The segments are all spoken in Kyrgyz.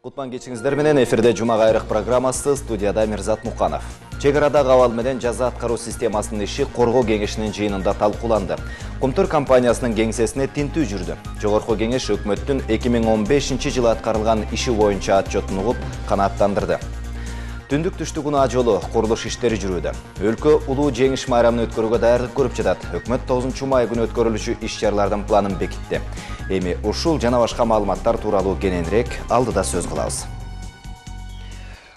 Кутман кечиңиздер менен эфирде Жума кайрык программасы, студияда Мирзат Муканов. Чек арадагы абал менен жаза аткаруу системасынын иши Коргоо кеңешинин жыйынында талкууланды. Кумтур компаниясынын кеңсесине тинтүү жүрдү. Жогорку кеңеш өкмөттүн 2015-жылы аткарылган иши боюнча отчетун угуп канааттандырды. Түндүк түштүк унаа жолу курулуш иштери жүрүүдө. Өлкө улуу жеңиш майрамын өткөрүүгө даярдык көрүп жатат. Өкмөт 9 май күнү өткөрүлүшү иш-чаралардын планын бекитти. Эми ушул жана башка маалыматтар тууралуу кененирээк алдыда сөз кылабыз.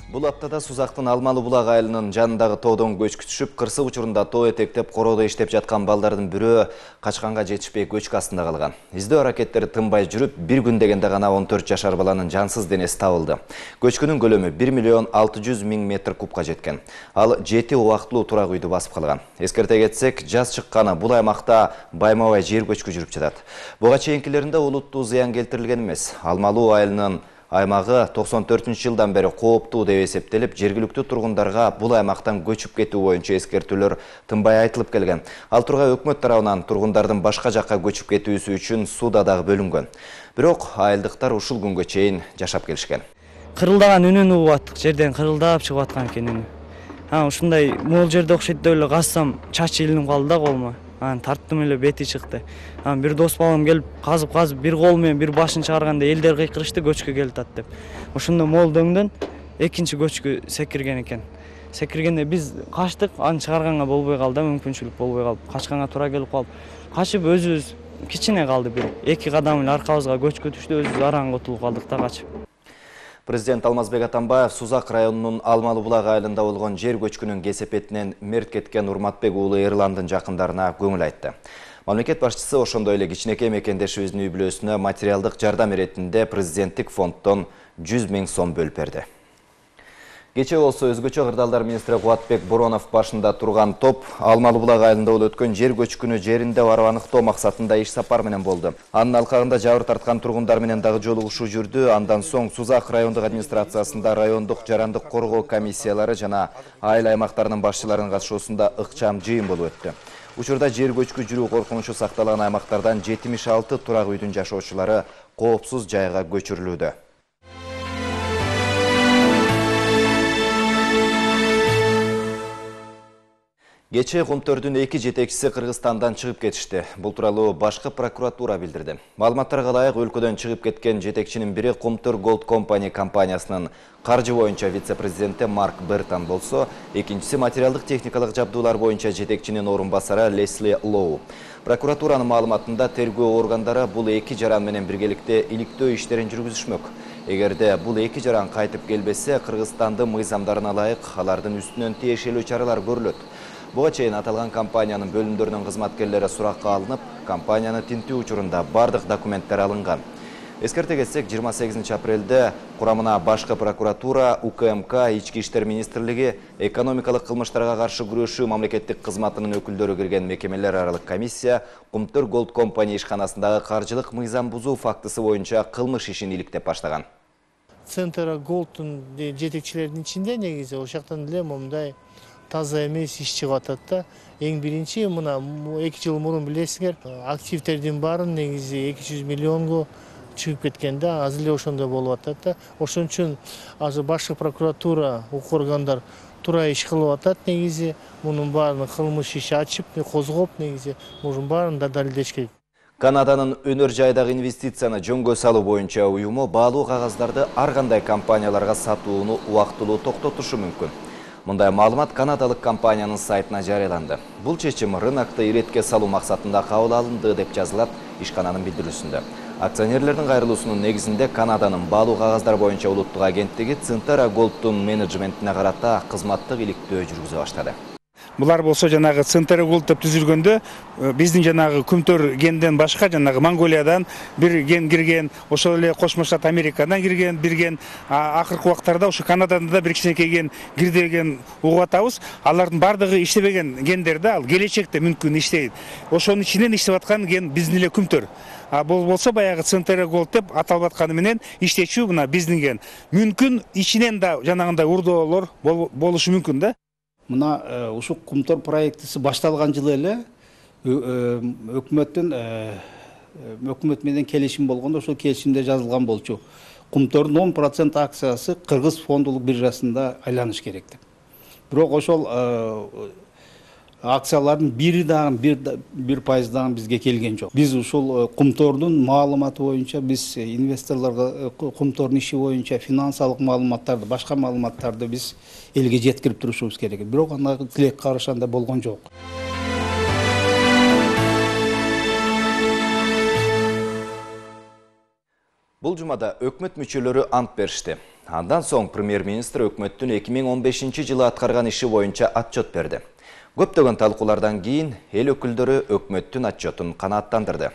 Бул аптада Сузактын Алмалы булак айылынын жанындагы тоодон көчкү түшүп, кырсык учурунда тоо этектеп короодо иштеп жаткан балдардын бирөө качканга жетишпей көчкү астында калган. Издөө аракеттери тынбай жүрүп, бир күн дегенде гана 14 жашар баланын жансыз денеси табылды. Көчкүнүн көлөмү 1.600.000 метр кубка жеткен. Ал 7 убактылуу турак үйдү басып калган. Эскерте кетсек, жаз чыкканы бул аймакта байма-бай жер көчкү жүрүп жатат. Буга чейинкилеринде улуттуу зыян келтирилген эмес. Алмалы айылынын аймагы 94-жылдан бери кооптуу деп эсептелип, жергиликтүү тургундарга бул аймактан көчүп кетүү боюнча эскертүүлөр тынбай айтылып келген. Ал тургай өкмөт тарабынан тургундардын башка жакка көчүп кетүүсү үчүн суда дагы бөлүнгөн. Бирок айылдыктар ушул күнгө чейин жашап келишкен. Кырылдаган үнүн угуп аттык, жерден кырылдап чыгып аткан экен үнү. Ушундай могул жерде окшойт деп эле казсам, чачы илинип калды да колума. Тарттым эле, бети чыкты. Бир дос балам келип казып бир кол менен бир башын чыгарганда элдер кыйкырышты, көчкү келатат деп. Ошондо могул дөңдөн экинчи көчкү секирген экен. Секиргенде биз качтык, аны чыгарганга болбой калды, мүмкүнчүлүк болбой калып, качканга туура келип калып, качып өзүбүз кичине калды бир 2 кадам эле аркабызга көчкү түштү, өзүбүз араң утулуп калдык да качып. Президент Алмазбек Атамбаев Сузак районунун Алмалы булак айылында болгон жер көчкүнүн кесепетинен мерт кеткен Урматбек уулу Эрландын жакындарына көңүл айтты. Мамлекет башчысы ошондой эле кичинекей мекендешибиздин үй бүлөсүнө материалдык жардам иретинде президенттик фонддон 100 000 сом бөлүп берди. Кечээ болсо өзгөчө кырдаалдар министри Кубатбек Боронов башында турган топ Алмалы булак айылында болуп өткөн жер көчкүнү жеринде барып аныктоо максатында иш сапар менен болду. Анын алкагында жабыр тарткан тургундар менен дагы жолугушуу жүрдү. Андан соң Сузак райондук администрациясында райондук жарандык коргоо комиссиялары жана айыл аймактарынын башчыларынын катышуусунда ыкчам жыйын болуп өттү. Учурда жер көчкү жүрүү коркунучу сакталган аймактардан 76 турак үйдүн жашоочулары коопсуз жайга көчүрүлүүдө. Кечээ Кумтөрдүн 2 жетекчиси Кыргызстандан чыгып кетишти. Бул тууралуу башкы прокуратура билдирди. Маалыматтарга ылайык, өлкөдөн чыгып кеткен жетекчинин бири Кумтөр Gold Company компаниясынын каржы боюнча вице-президенти Марк Бертон болсо, экинчиси материалдык техникалык жабдуулар боюнча жетекчинин орун басары Лесли Лоу. Прокуратуранын маалыматында тергөө органдары бул 2 жаран менен биргеликте иликтөө иштерин жүргүзүшмөк. Эгерде бул 2 жаран кайтып келбесе, Кыргызстандын мыйзамдарына ылайык алардын үстүнөн тиешелүү чаралар көрүлөт. Буга чейин аталган компаниянын бөлүмдөрүнүн кызматкерлери суракка алынып, компанияны тинтүү учурунда бардык документтер алынган. Эскерте кетсек, 28 апрелде курамына башкы прокуратура, УКМК, Ички иштер министрлиги, экономикалык кылмыштарга каршы күрөшүү мамлекеттик кызматынын өкүлдөрү кирген мекемелер аралык комиссия Кумтөр Gold Company ишканасындагы каржылык мыйзам бузуу фактысы боюнча кылмыш ишин иликтеп баштаган. Центр Голдтун жетекчилеринин ичинде негизи ошоктон эле момундай таза эмес иш чыгып атат да. Эң биринчи мына 2 жыл мурун билесиңер, активдердин баарын негизи 200 миллионго чыгып кеткен да, азыр эле ошондой болуп атат да. Ошон үчүн азыр башкы прокуратура, укук органдар туура иш кылып атат негизи. Мунун баарын кылмыш иши ачып, козгоп негизи мунун баарын да далилдеш керек. Канаданын өнөр жайдагы инвестицияны жөнгө салуу боюнча уюму баалуу кагаздарды ар кандай компанияларга сатууну убактылуу токтотушу мүмкүн. Мындай маалымат канадалык компаниянын сайтына жарыяланды. Бул чечим рынокто иретке салуу максатында кабыл алынды деп жазылат ишкананын билдирүүсүндө. Акционерлердин кайрылуусунун негизинде Канаданын баалуу кагаздар боюнча улуттук агенттиги Центера Голдтун менеджментине карата кызматтык иликтөө жүргүзө баштады. Булар болсо жанагы Центер Gold деп түзүлгөндө биздин жанагы Күмтөр генден башка жанагы Монголиядан бир ген кирген, ошол эле Кошмо Штат Америкадан кирген, бирген акыркы убактарда ошо Канададан да бир кичинекей ген кирди деген угуп атабыз. Алардын бардыгы иштебеген гендер да, ал келечекте мүмкүн иштейт. Ошонун ичинен иштеп аткан ген биздин эле Күмтөр. Бул болсо баягы Центер Gold деп аталып атканы менен иштечү мына биздин ген. Мүмкүн ичинен да жанагындай урдоолор болушу мүмкүн да. Мына ушул Кумтөр проектиси башталган жылы эле өкмөт менен келишим болгондо ошол келишимде жазылган болчу. Кумтордун 10% акциясы Кыргыз фондулук биржасында айланыш керек деп. Бирок ошол акциялардын бири дагы 1% дагы бизге келген жок. Биз ушул Кумтордун маалыматы боюнча биз инвесторлорго Кумтордун иши боюнча финансылык маалыматтарды, башка маалыматтарды биз элге жеткирип турушубуз керек. Бирок анда тилек карыш анда болгон жок. Бул жумада өкмөт мүчөлөрү ант беришти. Андан соң премьер-министр өкмөттүн 2015 жылы аткарган иши боюнча отчет берди. Көптөгөн талкуулардан кийин эл өкүлдөрү өкмөттүн отчетун канааттандырды.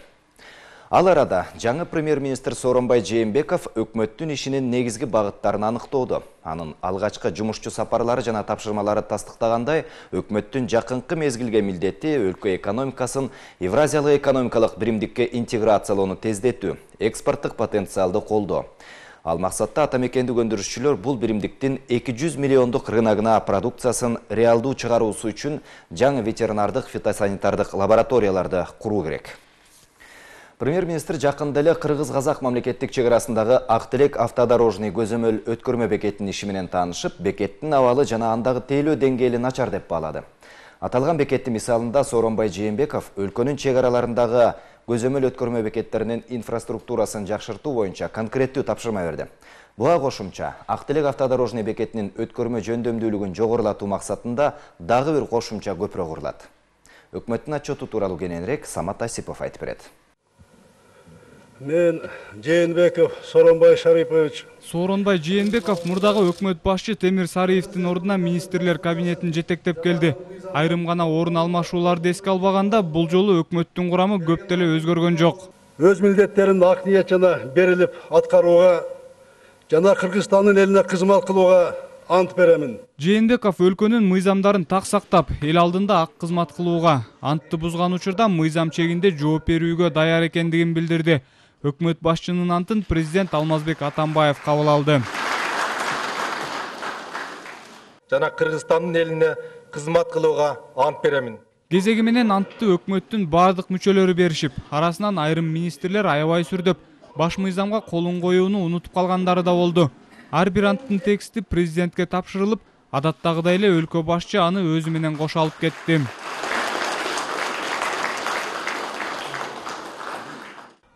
Ал арада жаңы премьер-министр Сооронбай Жээнбеков өкмөттүн ишинин негизги багыттарын аныктоодо. Анын алгачкы жумушчу сапарлары жана тапшырмалары тастыктагандай, өкмөттүн жакынкы мезгилге милдети өлкө экономикасын Евразиялык экономикалык биримдикке интеграциялоону тездетүү, экспорттук потенциалды колдоо. Ал максатта атамекендик өндүрүшчүлөр бул биримдиктин 200 миллиондук рыногуна продукциясын реалдуу чыгаруусу үчүн жаңы ветеринардык фитосанитардык лабораторияларды куруу керек. Премьер-министр жакында эле Кыргыз-Казак мамлекеттик чек арасындагы Актилек автодорожный көзөмөл өткөрмө бекетинин иши менен таанышып, бекеттин абалы жана андагы тейлөө деңгээли начар деп баалады. Аталган бекеттин мисалында Сооронбай Жээнбеков өлкөнүн чек араларындагы көзөмөл өткөрмө бекеттеринин инфраструктурасын жакшыртуу боюнча конкреттүү тапшырма берди. Буга кошумча Актилек автодорожный бекетинин өткөрмө жөндөмдүүлүгүн жогорулатуу максатында дагы бир кошумча көпүрө курулат. Өкмөттүн отчету тууралуу кененирээк Самат Асипов айтып берет. Мен Жээнбеков Сооронбай Шарипович. Сооронбай Жээнбеков мурдагы өкмөт башчы Темир Сариевдин ордуна министрлер кабинетин жетектеп келди. Айрым гана орун алмашууларды эске албаганда, бул жолу өкмөттүн курамы көп деле өзгөргөн жок. Өз милдеттерин ак ниет жана берилип аткарууга жана Кыргызстандын элине кызмат кылууга ант беремин. Жээнбеков өлкөнүн мыйзамдарын так сактап, эл алдында ак кызмат кылууга, антты бузган учурда мыйзам чегинде жооп берүүгө даяр экендигин билдирди. Өкмөт башчынын антын президент Алмазбек Атамбаев кабыл алды. Жана Кыргызстандын элине кызмат кылууга ант беремин. Кезеги менен антты өкмөттүн бардык мүчөлөрү беришип, арасынан айрым министрлер аябай сүрдөп, баш мыйзамга колун коюуну унутуп калгандары да болду. Ар бир анттын тексти президентке тапшырылып, адаттагыдай эле өлкө башчы аны өзү менен кошо алып кетти.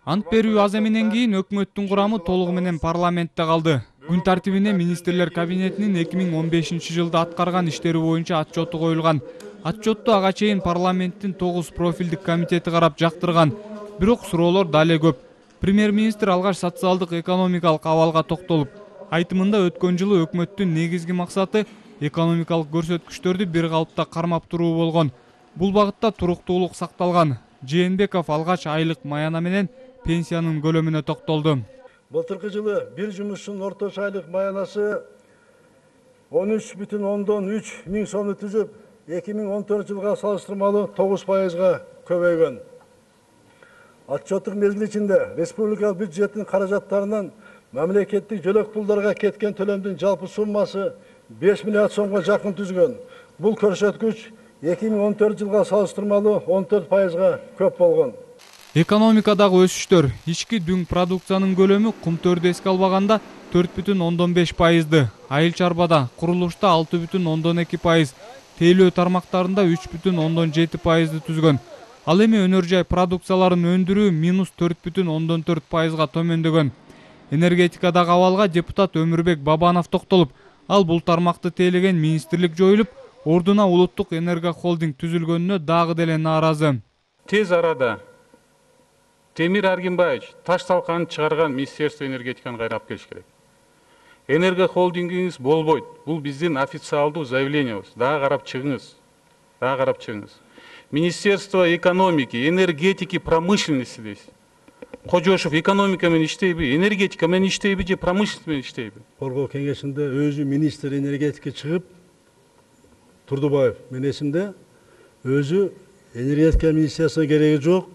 Ант берүү аземинен кийин өкмөттүн курамы толугу менен парламентте калды. Күн тартибине министрлер кабинетинин 2015 жылда аткарган иштери боюнча отчету коюлган. Отчетту ага чейин парламенттин 9 профилдик комитети карап жактырган. Бирок суроолор дале көп. Премьер-министр алгач социалдык экономикалык абалга токтолуп, айтымында өткөн жылы өкмөттүн негизги максаты экономикалык көрсөткүчтөрдү бир калыпта кармап туруу болгон. Бул багытта туруктуулук сакталган. Жээнбеков алгач айлык маяна менен пенсиянын көлөмүнө токтолду. Былтыркы жылы бир жумушчунун орточо айлык маянасы 13,3 миң сомду түзүп, 2014 жылга салыштырмалуу 9%га көбөйгөн. Отчеттук мезгил ичинде республикалык бюджеттин каражаттарынан мамлекеттик жөлөк пулдарга кеткен төлөмдүн жалпы суммасы 5 миллиард сомго жакын түзгөн. Бул көрсөткүч 2014 жылга салыштырмалуу 14%га көп болгон. Экономикадагы өсүштөр, ички дүң продукциянын көлөмү Кумтөрдү эске албаганда 4,5%, айыл чарбада, курулушта 6,2%, тейлөө тармактарында 3,7%ды түзгөн. Ал эми өнөр жай продукцияларын өндүрүү -4,4%га төмөндөгөн. Энергетикадагы абалга депутат Өмүрбек Бабанов токтолуп, ал бул тармакты тейлеген министрлик жоюлуп, ордуна улуттук энергохолдинг түзүлгөнүнө дагы деле нааразы. Тез арада Темир Аргимбаевич таш талканын чыгарган Министерство энергетиканы кайрап келиш керек. Энергохолдингиңиз болбойт. Бул биздин официалдуу заявлениябыз. Дагы карап чыгыңыз. Министерство экономики, энергетики, промышленности дейсиз. Кожошов экономика менен иштейби, энергетика менен иштейби же промышленность менен иштейби? Коргоо кеңешинде өзү министр энергетика чыгып, Турдубаев менин эсимде өзү энергетика министриясына кереги жок,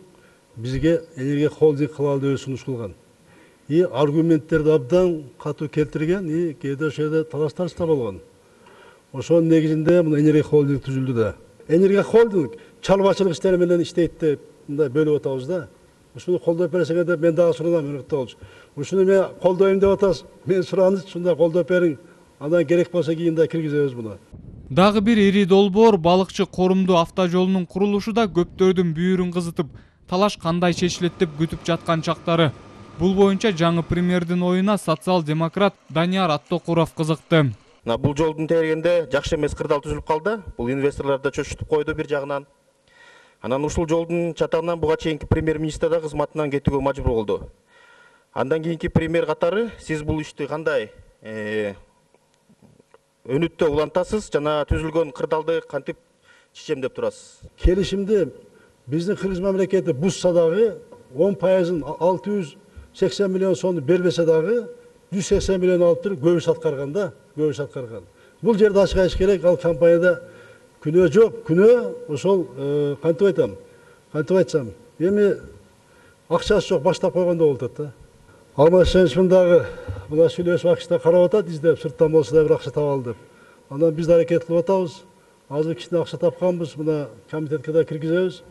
бизге энергия холдинг кылалы деп сунуш кылган. Аргументтерди абдан катуу келтирген, кээде ошол талаштар да болгон. Ошонун негизинде мына энергия холдинг түзүлдү да. Энергия холдинг чарбачылык иштери менен иштейт деп мындай бөлүп атабыз да. ушуну колдоп берсеңер деп мен дагы суранам өнөктөгүлчү. Ушуну мен колдойм деп атасыз. Мен суранычы ушундай колдоп бериң. Андан керек болсо кийин да киргизебиз буну. Дагы бир ири долбоор балыкчы корумду автожолунун курулушу да көптөрдүн бүйүрүн кызытып, талаш кандай чечилет деп күтүп жаткан чактары. Бул боюнча жаңы премьердин оюна социал-демократ Данияр Аттокуров кызыкты. Бул жолдун тегерегинде жакшы эмес кырдаал түзүлүп калды. Бул инвесторлорду чочутуп койду бир жагынан. Анан ушул жолдун чатагынан буга чейинки премьер-министр да кызматынан кетүүгө мажбур болду. Андан кийинки премьер катары сиз бул ишти кандай өнүттө улантасыз жана түзүлгөн кырдаалды кантип чечем деп турасыз? Келишимди биздин Кыргыз мамлекети бузса дагы 10%-ын 680 миллион сомду бербесе дагы 180 миллион алып туруп көбүс аткарган да, көбүс аткарган. Бул жерде ачык айтыш керек, ал компанияда күнөө жок, күнөө ошол кантип айтсам, эми акчасы жок баштап койгондо болуп атат да. Алмашевичмин дагы мына сүйлөшүп акча карап атат, издеп сырттан болсо да бир акча табалы деп. Анан биз да аракет кылып атабыз. Азыр кичине акча тапканбыз, мына комитетке да киргизебиз.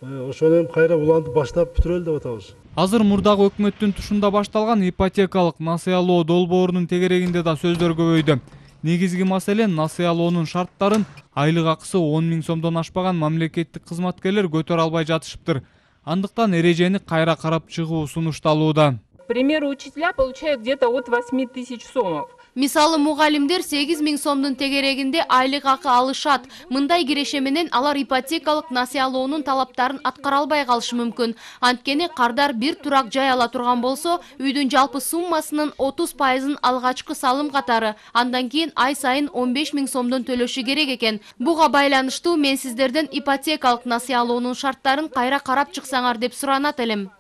Ошону кайра улантып баштап бүтүрөлү деп атабыз. Азыр мурдагы өкмөттүн тушунда башталган ипотекалык насыялоо долбоорунун тегерегинде да сөздөр көбөйдү. Негизги маселе насыялоонун шарттарын айлык акысы 10 000 сомдон ашпаган мамлекеттик кызматкерлер көтөрө албай жатышыптыр. Андыктан эрежени кайра карап чыгуу сунушталууда. К примеру, учителя получают где-то от 8 000 сомов. Мисалы мугалимдер 8 000 сомдун тегерегинде айлык акы алышат. Мындай киреше менен алар ипотекалык насыялоонун талаптарын аткара албай калышы мүмкүн. Анткени кардар бир турак жай ала турган болсо, үйдүн жалпы суммасынын 30%-ын алгачкы салым катары, андан кийин ай сайын 15 000 сомдон төлөшү керек экен. Буга байланыштуу мен сиздерден ипотекалык насыялоонун шарттарын кайра карап чыксаңар деп суранат элем.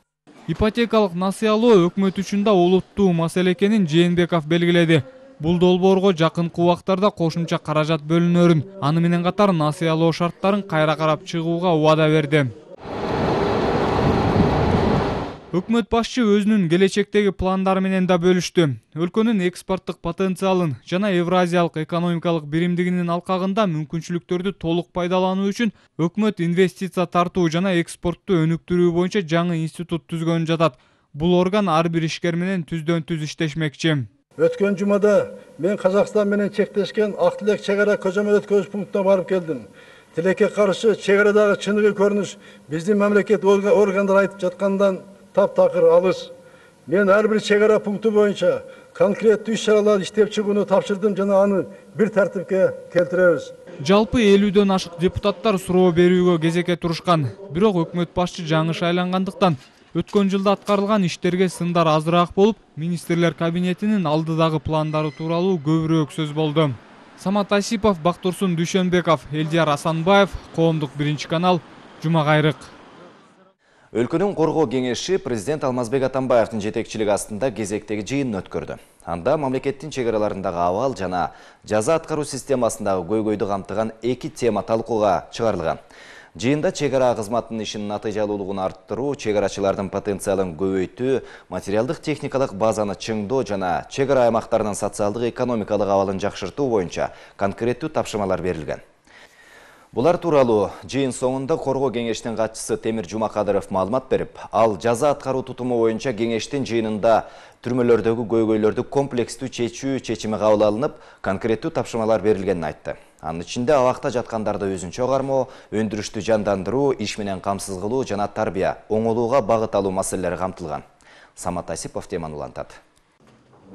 Ипотекалык насыялоо өкмөт үчүн да олуттуу маселе экенин Жээнбеков белгиледи. Бул долбоорго жакынкы убактарда кошумча каражат бөлүнөрүн, аны менен катар насыялоо шарттарын кайра карап чыгууга убада берди. Өкмөт башчы өзүнүн келечектеги пландары менен да бөлүштү. Өлкөнүн экспорттук потенциалын жана Евразиялык экономикалык биримдигинин алкагында мүмкүнчүлүктөрдү толук пайдалануу үчүн өкмөт инвестиция тартуу жана экспортту өнүктүрүү боюнча жаңы институт түзгөнү жатат. Бул орган ар бир ишкер менен түздөн-түз иштешмекчи. Өткөн жумада мен Казакстан менен чектешкен Ак Тилек чек ара көзөмөл өткөрүш пунктуна барып келдим. Тилекке каршы чек арадагы чыныгы көрүнүш биздин мамлекет органдар айтып жаткандан таптакыр алыс. Мен ар бир чек ара пункту боюнча конкреттүү иш-чараларды иштеп чыгууну тапшырдым жана аны бир тартипке келтиребиз. Жалпы 50дөн ашык депутаттар суроо берүүгө кезекке турушкан. Бирок өкмөт башчы жаңы шайлангандыктан өткөн жылда аткарылган иштерге сындар азыраак болуп, министрлер кабинетинин алдыдагы пландары тууралуу көбүрөөк сөз болду. Самат Асипов, Бактурсун Дүйшөнбеков, Элдияр Асанбаев, Коомдук биринчи канал, Жума кайрык. Өлкөнүн коргоо кеңеши президент Алмазбек Атамбаевдин жетекчилиги астында кезектеги жыйынын өткөрдү. Анда мамлекеттин чек араларындагы абал жана жаза аткаруу системасындагы көйгөйдү камтыган 2 тема талкууга чыгарылган. Жыйында чек ара кызматынын ишинин натыйжалуулугун арттыруу, чек арачылардын потенциалын көбөйтүү, материалдык техникалык базаны чыңдоо жана чек ара аймактарынын социалдык экономикалык абалын жакшыртуу боюнча конкреттүү тапшырмалар берилген. Булар тууралуу жыйын соңунда коргоо кеңешинин катчысы Темир Жумакадыров маалымат берип, ал жаза аткаруу тутуму боюнча кеңештин жыйынында түрмөлөрдөгү көйгөйлөрдү комплекстүү чечүү чечими кабыл алынып, конкреттүү тапшырмалар берилгенин айтты. Анын ичинде абакта жаткандарды өзүнчө кармоо, өндүрүштү жандандыруу, иш менен камсыз кылуу жана тарбия, оңолууга багыт алуу маселелери камтылган. Самат Асипов теманы улантат.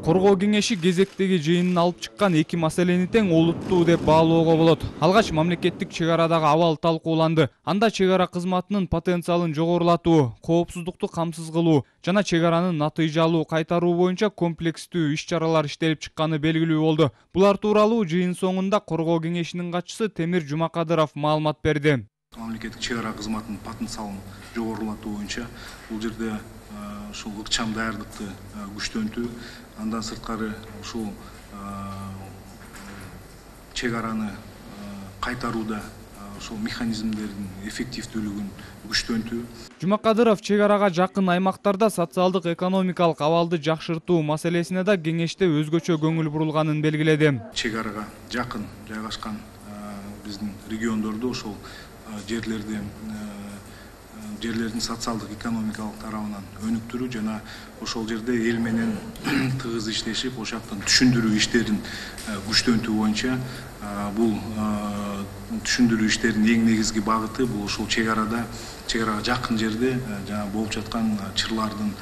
Коргоо кеңеши кезектеги жыйынын алып чыккан 2 маселени тең олуттуу деп баалоого болот. Алгач мамлекеттик чек арадагы абал талкууланды. Анда чек ара кызматынын потенциалын жогорулатуу, коопсуздукту камсыз кылуу жана чек аранын натыйжалуу кайтаруу боюнча комплекстүү иш-чаралар иштелип чыкканы белгилүү болду. Булар тууралуу жыйын соңунда коргоо кеңешинин катчысы Темир Жумакадыров маалымат берди. Мамлекеттик чек ара кызматынын потенциалын жогорулатуу боюнча бул жерде ушул ыкчам даярдыкты күчтөнтүү, андан сырткары ушул чек араны кайтарууда ушул механизмдердин эффективдүүлүгүн күчтөнтүү. Жумакадыров чек арага жакын аймактарда социалдык экономикалык абалды жакшыртуу маселесине да кеңеште өзгөчө көңүл бурулганын белгиледи. Чек арага жакын жайгашкан биздин региондордо ошол жерлерде жерлердин социалдык экономикалык тарабынан өнүктүрүү жана ошол жерде эл менен тыгыз иштешип, ошол жактан түшүндүрүү иштерин күчтөнтүү боюнча бул түшүндүрүү иштеринин эң негизги багыты бул ушул чек-арага жакын жерде жана болуп жаткан чырлардын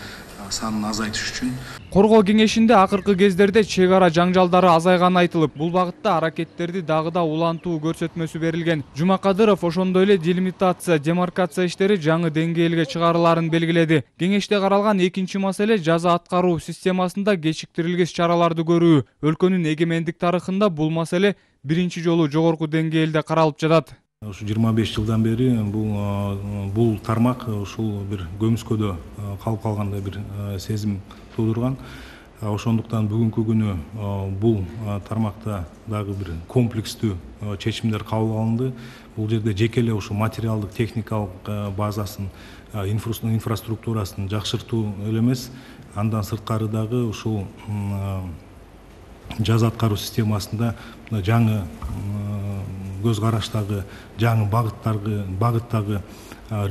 санын азайтыш үчүн. Коргоо кеңешинде акыркы кездерде чек ара жаңжалдары азайганы айтылып, бул багытта аракеттерди дагы да улантуу көрсөтмөсү берилген. Жумакадыров ошондой эле делимитация, демаркация иштери жаңы деңгээлге чыгарыларын белгиледи. Кеңеште каралган экинчи маселе жаза аткаруу системасында кечиктирилгис чараларды көрүү. Өлкөнүн эгемендик тарыхында бул маселе биринчи жолу жогорку деңгээлде каралып жатат. Ушу 25 жылдан бери бул тармак ушул бир көмүскөдө калып калгандай бир сезим туудурган. Ошондуктан бүгүнкү күнү бул тармакта дагы бир комплекстүү чечимдер кабыл алынды. Бул жерде жеке эле ушу материалдык техникалык базасын, инфраструктурасын жакшыртуу эле эмес, андан сырткары дагы ушул жаза аткаруу системасында жаңы көз караштагы, жаңы багыттагы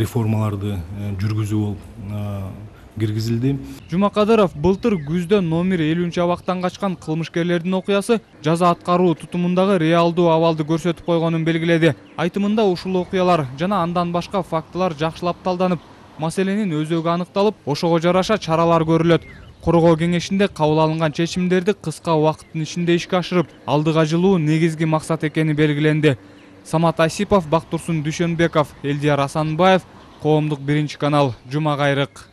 реформаларды жүргүзүү болуп киргизилди. Жумакадыров былтыр күздө номер 50 абактан качкан кылмышкерлердин окуясы жаза аткаруу тутумундагы реалдуу абалды көрсөтүп койгонун белгиледи. Айтымында ушул окуялар жана андан башка фактылар жакшылап талданып, маселенин өзөгү аныкталып, ошого жараша чаралар көрүлөт. Коргоо кеңешинде кабыл алынган чечимдерди кыска убакыттын ичинде ишке ашырып, алдыга жылуу негизги максат экени белгиленди. Самат Асипов, Бактурсун Дүйшөнбеков, Элдияр Асанбаев, Коомдук биринчи канал, Жума кайрык.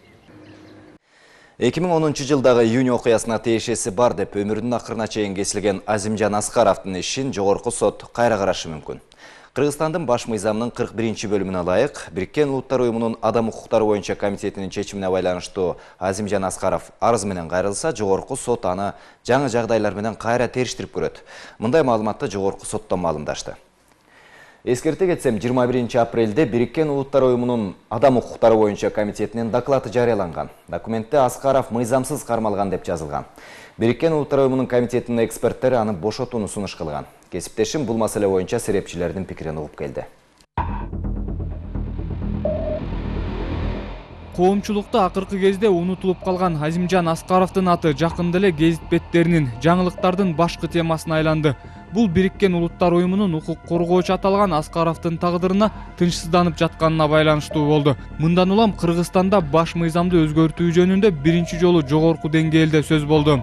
2010 жылдагы июнь окуясына тиешеси бар деп өмүрүнүн акырына чейин кесилген Азимжан Аскаровдун ишин жогорку сот кайра карашы мүмкүн. Кыргызстандын баш мыйзамынын 41 бөлүмүнө ылайык, Бириккен Улуттар уюмунун адам укуктары боюнча комитетинин чечимине байланыштуу Азимжан Аскаров арыз менен кайрылса, жогорку сот аны жаңы жагдайлар менен кайра териштирип көрөт. Мындай маалыматты жогорку соттон маалымдашты. Эскерте кетсем, 21 апрелде Бириккен Улуттар уюмунун адам укуктары боюнча комитетинин доклады жарыяланган. Документте Аскаров мыйзамсыз кармалган деп жазылган. Бириккен Улуттар уюмунун комитетинин эксперттери аны бошотууну сунуш кылган. Кесиптешим бул маселе боюнча серепчилердин пикирин угуп келди. Коомчулукта акыркы кезде унутулуп калган Азимжан Аскаровдун аты жакында эле гезит беттеринин, жаңылыктардын башкы темасына айланды. Бул Бириккен Улуттар уюмунун укук коргоочу аталган Аскаровдун тагдырына тынчсызданып жатканына байланыштуу болду. Мындан улам Кыргызстанда баш мыйзамды өзгөртүү жөнүндө биринчи жолу жогорку деңгээлде сөз болду.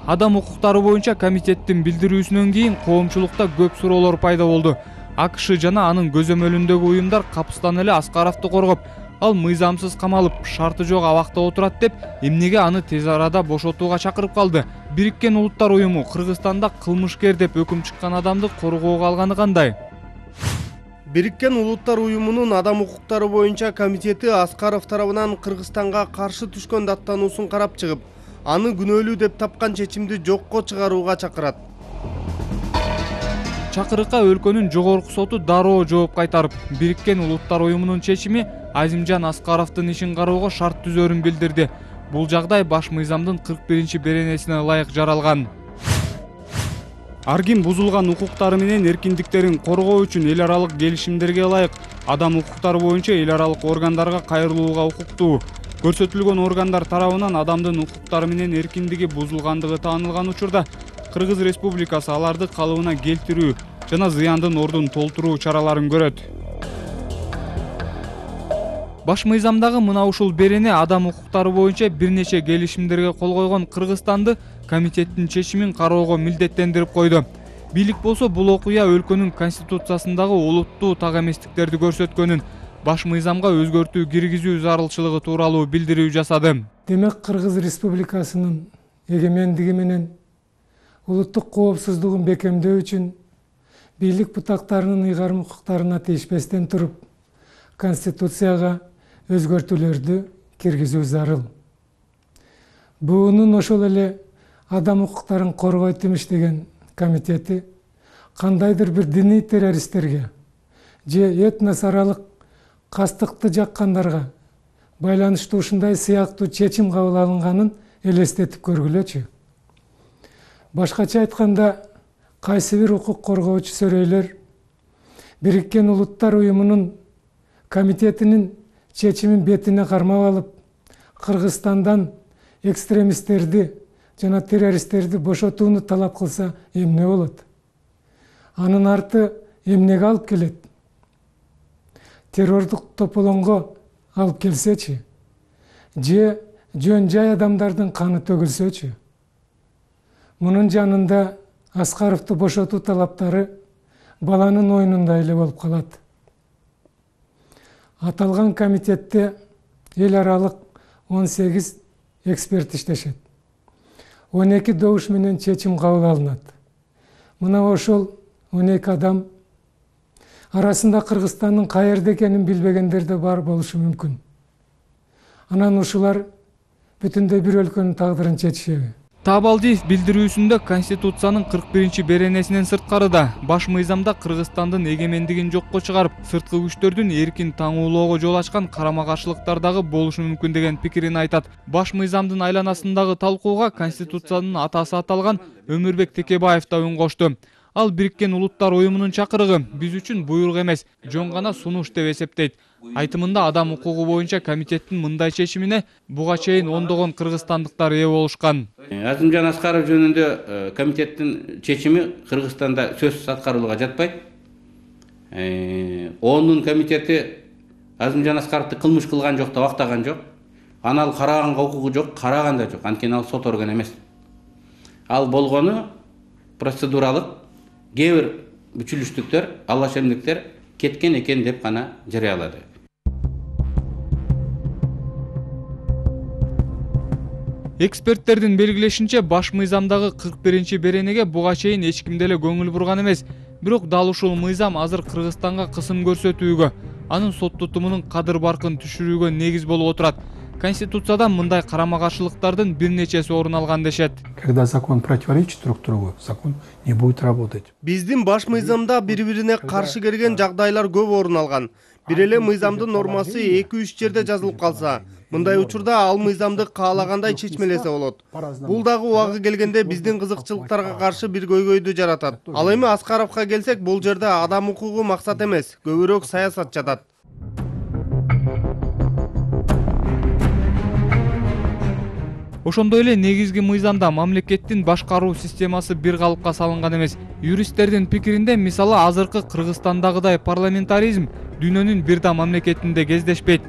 Адам укуктары боюнча комитеттин билдирүүсүнөн кийин коомчулукта көп суроолор пайда болду. АКШ жана анын көзөмөлүндөгү уюмдар капыстан эле Аскаровду коргоп, ал мыйзамсыз камалып, шарты жок абакта отурат деп, эмнеге аны тез арада бошотууга чакырып калды. Бириккен Улуттар уюму Кыргызстанда кылмышкер деп өкүм чыккан адамды коргоого алганы кандай? Бириккен Улуттар уюмунун адам укуктары боюнча комитети Аскаров тарабынан Кыргызстанга каршы түшкөн даттануусун карап чыгып, аны күнөөлүү деп тапкан чечимди жокко чыгарууга чакырат. Чакырыкка өлкөнүн жогорку соту дароо жооп кайтарып, Бириккен Улуттар уюмунун чечими Азимжан Аскаровдун ишин кароого шарт түзөрүн билдирди. Бул жагдай баш мыйзамдын 41 беренесине ылайык жаралган. Ар ким бузулган укуктары менен эркиндиктерин коргоо үчүн эл аралык келишимдерге ылайык адам укуктары боюнча эл аралык органдарга кайрылууга укуктуу. Көрсөтүлгөн органдар тарабынан адамдын укуктары менен эркиндиги бузулгандыгы таанылган учурда Кыргыз Республикасы аларды калыбына келтирүү жана зыяндын ордун толтуруу чараларын көрөт. Баш мыйзамдагы мына ушул берене адам укуктары боюнча бир нече келишимдерге кол койгон Кыргызстанды комитеттин чечимин кароого милдеттендирип койду. Бийлик болсо бул окуя өлкөнүн конституциясындагы олуттуу так эместиктерди көрсөткөнүн, баш мыйзамга өзгөртүү киргизүү зарылчылыгы тууралуу билдирүү жасады. Демек Кыргыз Республикасынын эгемендиги менен улуттук коопсуздугун бекемдөө үчүн бийлик бутактарынын ыйгарым укуктарына тийишпестен туруп, Конституцияга өзгөртүүлөрдү киргизүү зарыл. БУнун ошол эле адам укуктарын коргойт иштеген комитети кандайдыр бир диний террористтерге же этнос аралык кастыкты жаккандарга байланыштуу ушундай сыяктуу чечим кабыл алынганын элестетип көргүлөчү. Башкача айтканда, кайсы бир укук коргоочу сөрөйлөр Бириккен Улуттар Уюмунун комитетинин чечимин бетине кармап алып, Кыргызстандан экстремисттерди жана террористтерди бошотууну талап кылса эмне болот? Анын арты эмнеге алып келет? Террордук тополоңго алып келсечи? Же жөн жай адамдардын каны төгүлсөчү? Мунун жанында Аскаровду бошотуу талаптары баланын оюнундай эле болуп калат. Аталган комитетте эл аралык 18 эксперт иштешет. 12 добуш менен чечим кабыл алынат. Мына ошол 12 адам арасында Кыргызстандын каерде экенин билбегендер да бар болушу мүмкүн. Анан ушулар бүтүндөй бир өлкөнүн тагдырын чечишеби? Таабалдиев билдирүүсүндө Конституциянын 41-беренесинен сырткарыда баш мыйзамда Кыргызстандын эгемендигин жокко чыгарып, сырткы күчтөрдүн эркин таңуулоого жол ачкан карама-каршылыктар дагы болушу мүмкүн деген пикирин айтат. Баш мыйзамдын айланасындагы талкууга Конституциянын атасы аталган Өмүрбек Текебаев да үн кошту. Ал Бириккен Улуттар Уюмунун чакырыгы биз үчүн буйрук эмес, жөн гана сунуш деп эсептейт. Айтымында адам укугу боюнча комитеттин мындай чечимине буга чейин ондогон кыргызстандыктар ээ болушкан. Азимжан Аскаров жөнүндө комитеттин чечими Кыргызстанда сөзсүз аткарылууга жатпайт. ООНдун комитети Азимжан Аскаровду кылмыш кылган жок да актаган жок. Аны ал караганга укугу жок, караган да жок. Анткени ал сот орган эмес. Ал болгону процедуралык кээ бир бүчүлүштүктөр, алашемдиктер кеткен экен деп гана жарыялады. Эксперттердин белгилешинче, баш мыйзамдагы 41-беренеге буга чейин эч ким деле көңүл бурган эмес. Бирок дал ушул мыйзам азыр Кыргызстанга кысым көрсөтүүгө, анын сот тутумунун кадыр баркын түшүрүүгө негиз болуп отурат. Конституцияда мындай карама-каршылыктардын бир нечеси орун алган дешет. Когда закон противоречит друг другу, закон не будет работать. Биздин баш мыйзамда бири-бирине каршы келген жагдайлар көп орун алган. Бир эле мыйзамдын нормасы 2-3 жерде жазылып калса, мындай учурда ал мыйзамды каалагандай чечмелесе болот. Бул дагы убагы келгенде биздин кызыкчылыктарга каршы бир көйгөйдү жаратат. Ал эми Аскаровго келсек, бул жерде адам укугу максат эмес, көбүрөөк саясат жатат. Ошондой эле негизги мыйзамда мамлекеттин башкаруу системасы бир калыпка салынган эмес. Юристтердин пикиринде, мисалы, азыркы Кыргызстандагыдай парламентаризм дүйнөнүн бир да мамлекетинде кездешпейт.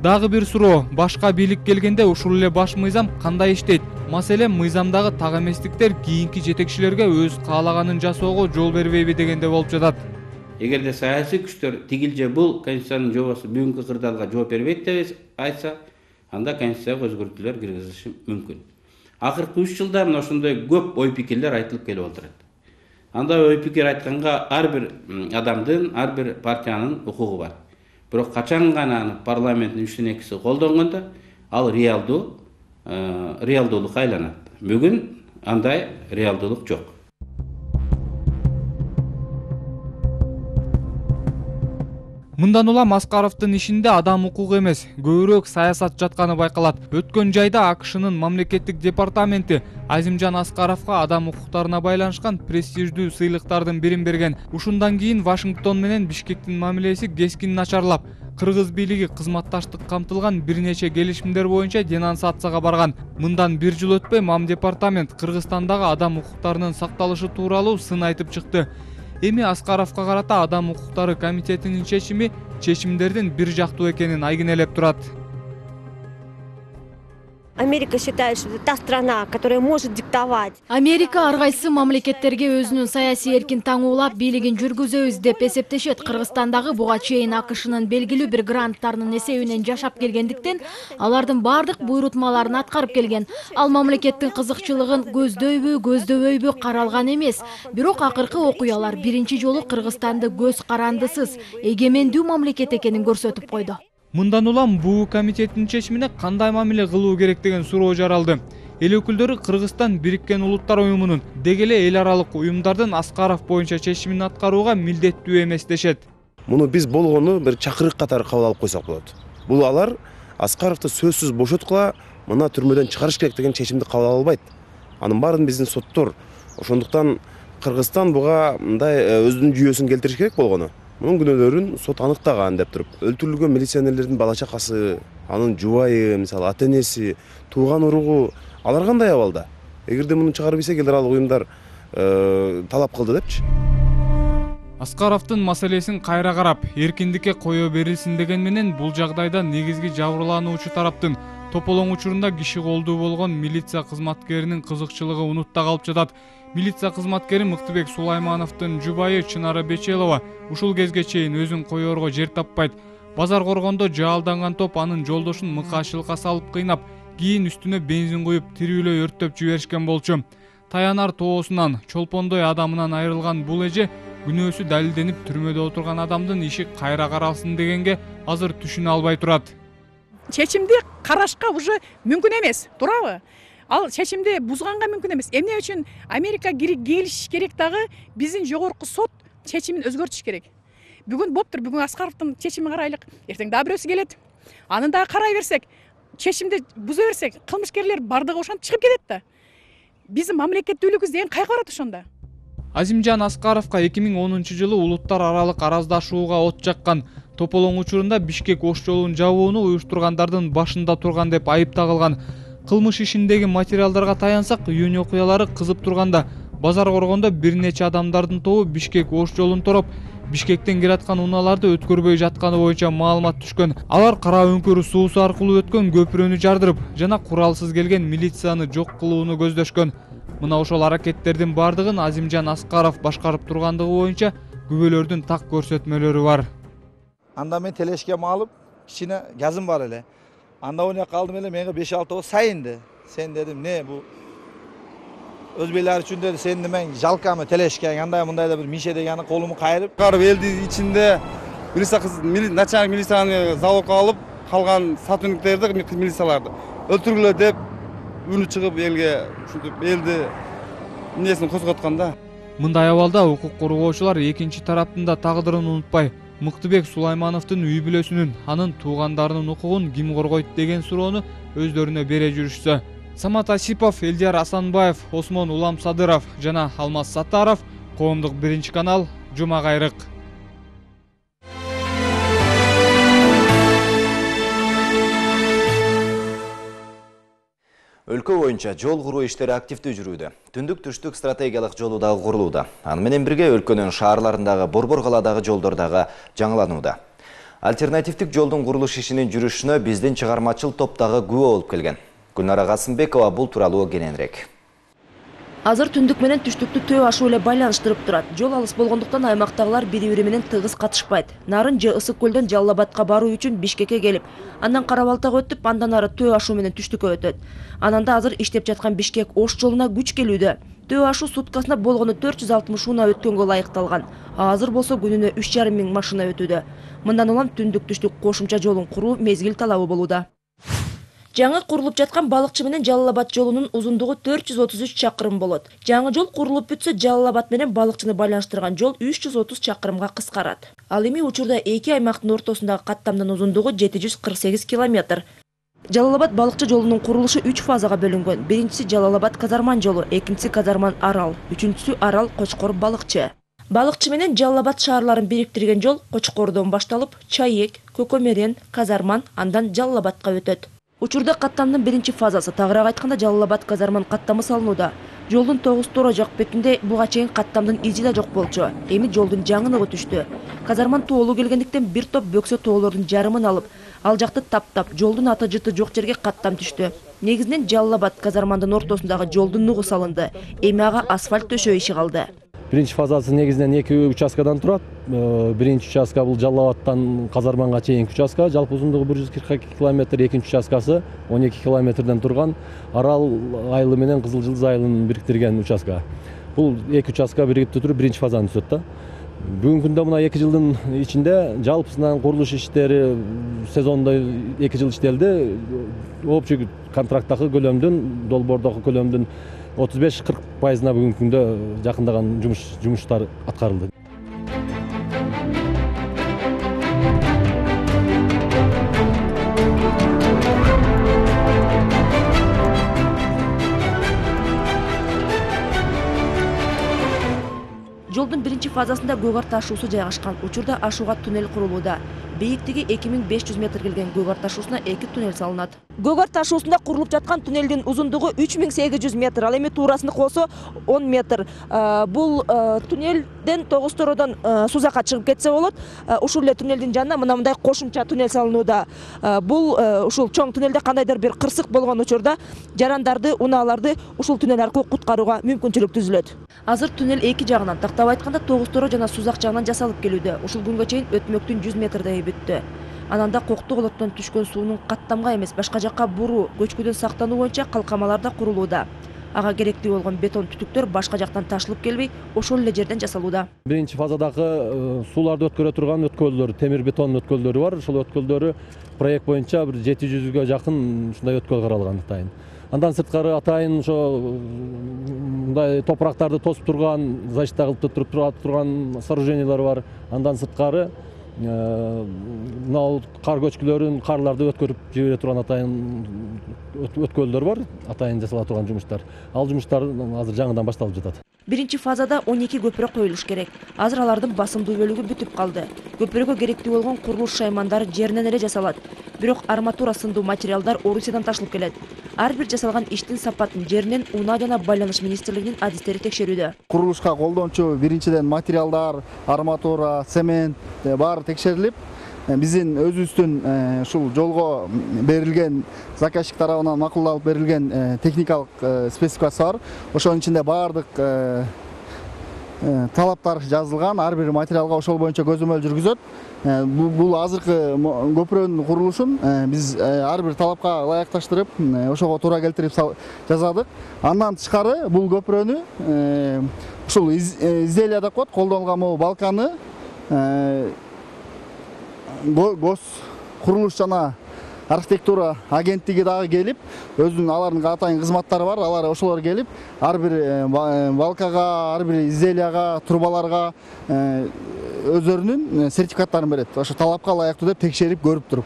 Дагы бир суроо, башка бийлик келгенде ушул эле баш мыйзам кандай иштейт? Маселен, мыйзамдагы так эместиктер кийинки жетекчилерге өз каалаганын жасоого жол бербейби дегенде болуп жатат. Эгерде саясий күчтөр тигил же бул конституциянын жобосу бүгүнкү кырдаалга жооп бербейт деп айтса, анда конституцияга өзгөртүүлөр киргизиши мүмкүн. Акыркы 3 жылда мына ошондой көп ой пикирлер айтылып келип отурат. Анда ой пикир айтканга ар бир адамдын, ар бир партиянын укугу бар. Бирок качан гана аны парламенттин 3/2 колдонгондо ал реалдуулукка айланат. Бүгүн андай реалдуулук жок. Мындан улам Аскаровдун ишинде адам укугу эмес, көбүрөөк саясат жатканы байкалат. Өткөн жайда АКШнын мамлекеттик департаменти Азимжан Аскаровго адам укуктарына байланышкан престиждүү сыйлыктардын бирин берген. Ушундан кийин Вашингтон менен Бишкектин мамилеси кескин начарлап, кыргыз бийлиги кызматташтык камтылган бир нече келишимдер боюнча денонсацияга барган. Мындан 1 жыл өтпөй Мамдепартамент Кыргызстандагы адам укуктарынын сакталышы тууралуу сын айтып чыкты. Эми Аскаровго карата адам укуктары комитетинин чечимдердин бир жактуу экенин айгинелеп турат. Америка считает, что это та страна, которая может диктовать. Америка ар кайсы мамлекеттерге өзүнүн саясий эркин таңуулап бийлигин жүргүзөбүз деп эсептешет. Кыргызстандагы буга чейин АКШнын белгилүү бир гранттарынын эсебинен жашап келгендиктен, алардын бардык буйрутмаларын аткарып келген. Ал мамлекеттин кызыкчылыгын көздөбөйбү каралган эмес. Бирок акыркы окуялар биринчи жолу Кыргызстанды көз карандысыз, эгемендүү мамлекет экенин көрсөтүп койду. Мындан улам буу комитеттин чечимине кандай мамиле кылуу керек деген суроо жаралды. Эл өкүлдөрү Кыргызстан Бириккен Улуттар Уюмунун деги эле эл аралык уюмдардын Аскаров боюнча чечимин аткарууга милдеттүү эмес дешет. Муну биз болгону бир чакырык катары кабыл алып койсок болот. Бул алар Аскаровду сөзсүз бошоткула, мына түрмөдөн чыгарыш керек деген чечимди кабыл ала албайт. Анын баарын биздин соттор. Ошондуктан Кыргызстан буга мындай өзүнүн жүйөсүн келтириш керек болгону. Мунун күнөөлөрүн сот аныктаган деп туруп, өлтүрүлгөн милиционерлердин бала чакасы, анын жубайы, мисалы ата-энеси, тууган уругу, алар кандай абалда? Эгерде муну чыгарып ийсе гидралык уюмдар талап кылды депчи. Аскаровдун маселесин кайра карап, эркиндикке кое берилсин деген менен бул жагдайда негизги жабырлануучу тараптын тополоң учурунда киши колдуу болгон милиция кызматкеринин кызыкчылыгы унутта калып жатат. Милиция кызматкери Мыктыбек Сулаймановдун жубайы Чынара Бечелова ушул кезге чейин өзүн коерго жер таппайт. Базар коргондо жаалданган топ анын жолдошун мыкаашылыкка салып кыйнап, кийин үстүнө бензин куюп тирүүлөй өрттөп жиберишкен болчу. Таянар тоосунан, чолпондой адамынан айрылган бул эже күнөөсү далилденип түрмөдө отурган адамдын иши кайра каралсын дегенге азыр түшүнө албай турат. Чечимди карашка уже мүмкүн эмес, туурабы? Ал чечимди бузганга мүмкүн эмес. Эмне үчүн Америка келиш керек дагы биздин жогорку сот чечимин өзгөртүш керек. Бүгүн болуптур, бүгүн Аскаровдун чечимин карайлык. Эртең дагы бирөөсү келет. Аны дагы карай берсек, чечимди буза берсек, кылмышкерлер бардыгы ошентип чыгып кетет да. Биздин мамлекеттүүлүгүбүз деген кайга барат ошондо? Азимжан Аскаровго 2010-жылы улуттар аралык араздашууга от жаккан. Тополоң учурунда Бишкек ош жолун жабууну уюштургандардын башында турган деп айыпталган. Кылмыш ишиндеги материалдарга таянсак, июнь окуялары кызып турганда базар коргондо бир нече адамдардын тобу Бишкек ош жолун тороп, Бишкектен келаткан унааларды өткөрбөй жатканы боюнча маалымат түшкөн. Алар кара өңкөр суусу аркылуу өткөн көпүрөнү жардырып жана куралсыз келген милицияны жок кылууну көздөшкөн. Мына ошол аракеттердин бардыгын Азимжан Аскаров башкарып тургандыгы боюнча күбөлөрдүн так көрсөтмөлөрү бар. Анда мен телешкем алып, кичине газым бар эле. Анда ойнап калдым эле, менге 5-6 сайынды. Сен дедим, не бу өзбейлер үчүн деди, сен немен жалкамы телешкең, андай мындай да бир мише дегени колуму кайрып. Карып элдин ичинде начальник милицияны залогко алып, калган сотрудниктерди, милицияларды өлтүргүлө деп үнү чыгып элге ушинтип элди эмнесин козготкон да. Мындай абалда укук коргоочулар экинчи тараптын да тагдырын унутпай, Мыктыбек Сулаймановдун үй бүлөсүнүн, анын туугандарынын укугун ким коргойт деген суроону өздөрүнө бере жүрүшсө. Самат Асипов, Элдияр Асанбаев, Осмон Улам Садыров жана Алмаз Саттаров, Коомдук 1-канал, Жума кайрык. Өлкө боюнча жол куруу иштери активдүү жүрүүдө. Түндүк-түштүк стратегиялык жолу дагы курулууда. Аны менен бирге өлкөнүн шаарларындагы Борбор каладагы жолдор дагы жаңыланууда. Альтернативдик жолдун курулуш ишинин жүрүшүнө биздин чыгармачыл топ дагы күбө болуп келген. Гүлнара Касымбекова бул тууралуу кененирээк. Азыр түндүк менен түштүктү төө ашуу эле байланыштырып турат. Жол алыс болгондуктан аймактагылар бири-бири менен тыгыз катышпайт. Нарын же Ысык көлдөн Жалал Абадка баруу үчүн Бишкекке келип, андан Кара-Балтага өтүп, андан ары төө ашуу менен түштүккө өтөт. Анан да азыр иштеп жаткан Бишкек ош жолуна күч келүүдө. Төө ашуу суткасына болгону 460 унаа өткөнгө ылайыкталган. Азыр болсо күнүнө 3,5 миң машина өтүүдө. Мындан улам түндүк-түштүк кошумча жолун куруу мезгил талабы болууда. Жаңы курулуп жаткан Балыкчы менен Жалал Абад жолунун узундугу 433 чакырым болот. Жаңы жол курулуп бүтсө, Жалал Абад менен Балыкчыны байланыштырган жол 330 чакырымга кыскарат. Ал эми учурда эки аймактын ортосундагы каттамдын узундугу 748 километр. Жалал Абад Балыкчы жолунун курулушу 3 фазага бөлүнгөн. Биринчиси Жалал Абад Казарман жолу, экинчиси Казарман Арал, үчүнчүсү Арал Кочкор Балыкчы. Балыкчы менен Жалал Абад шаарларын бириктирген жол Кочкордон башталып, Чайек, Көкөмерен, Казарман, андан Жалал Абадка өтөт. Учурда каттамдын биринчи фазасы, тагыраак айтканда Жалал Абад Казарман каттамы салынууда. Жолдун тогуз тора жок бетинде буга чейин каттамдын изи да жок болчу. Эми жолдун жаңыныгы түштү. Казарман тоолуу келгендиктен бир топ бөксө тоолордун жарымын алып, ал жакты таптап, жолдун аты жыты жок жерге каттам түштү. Негизинен Жалал Абад Казармандын ортосундагы жолдун нугу салынды. Эми ага асфальт төшөө иши калды. Биринчи фазасы негизинен 2 участкадан турат. Биринчи участка бул Жалал Абадтан Казарманга чейинки участка, жалпы узундугу 142 километр, экинчи участкасы 12 километрден турган Арал айылы менен Кызыл Жылдыз айылын бириктирген участка. Бул эки участка биригип туруп биринчи фазаны түзөт да. Бүгүнкү күндө мына 2 жылдын ичинде жалпысынан курулуш иштери сезондо 2 жыл иштелди. Общий контракттагы көлөмдүн, долбоордогу көлөмдүн 35-40%-на бүгүнкү күндө жакындаган жумуштар аткарылды. Жолдун биринчи фазасында Көк Ар ташуусу жайгашкан учурда ашууга туннель курулууда. Бийиктиги 2500 метр келген Көк Ар ташуусуна 2 туннель салынат. Көк Ар ташуусунда курулуп жаткан туннелдин узундугу 3800 метр, ал эми туурасында кылсо 10 метр. Бул туннелден Тогуз-Тородон Сузакка чыгып кетсе болот. Ушул эле туннелдин жанына мындай кошумча туннель салынууда. Бул ушул чоң туннелде кандайдыр бир кырсык болгон учурда жарандарды, унааларды ушул туннель аркылуу куткарууга мүмкүнчүлүк түзүлөт. Азыр туннель эки жагынан, тактап айтканда Тогуз-Торо жана Сузак жагынан жасалып келүүдө. Ушул күнгө чейин өтмөктүн 100 метрдей бүттү. Ананда Кокту колоттон түшкөн суунун каттамга эмес, башка жакка буруу, көчкүдөн сактануу боюнча калкамалар да курулууда. Ага керектүү болгон бетон түтүктөр башка жактан ташылып келбей, ошол эле жерден жасалууда. Биринчи фазадагы сууларды өткөрө турган өткөлдөр, темир бетон өткөлдөрү бар. Ошол өткөлдөрү проект боюнча бир 700га жакын ушундай өткөл каралган атайын. Андан сырткары атайын ошо мындай топурактарды тосуп турган, защита кылып турган сооружениялар бар. Андан сырткары мына кар көчкүлөрүн, карларды өткөрүп жибере турган атайын өткөлдөр бар, атайын жасала турган жумуштар. Ал жумуштар азыр жаңыдан башталып жатат. Биринчи фазада 12 көпүрө коюлуш керек. Азыр алардын басымдуу бөлүгү бүтүп калды. Көпүрөгө керектүү болгон курулуш шаймандары жеринен эле жасалат. Бирок арматура сындуу материалдар Орусиядан ташылып келет. Ар бир жасалган иштин сапатын жеринен Унаа жана Байланыш министрлигинин адистери текшерүүдө. Курулушка колдончу биринчиден материалдар, арматура, цемент баары текшерилип, биздин өзүбүздүн ушул жолго берилген заказчик тарабынан макулдалып берилген техникалык спецификация бар. Ошонун ичинде баардык талаптар жазылган, ар бир материалга ошол боюнча көзөмөл жүргүзөт. Бул азыркы көпүрөнүн курулушун биз ар бир талапка ылайыкташтырып, ошого туура келтирип жасадык. Андан тышкары бул көпүрөнү ушул изделия деп коет, колдонулган могу балканы гос курулуш жана архитектура агенттиги дагы келип, өзүнүн алардын атайын кызматтары бар, алар ошолор келип, ар бир балкага, ар бир изделияга, трубаларга өздөрүнүн сертификаттарын берет. Ошо талапка ылайыктуу деп текшерип көрүп туруп.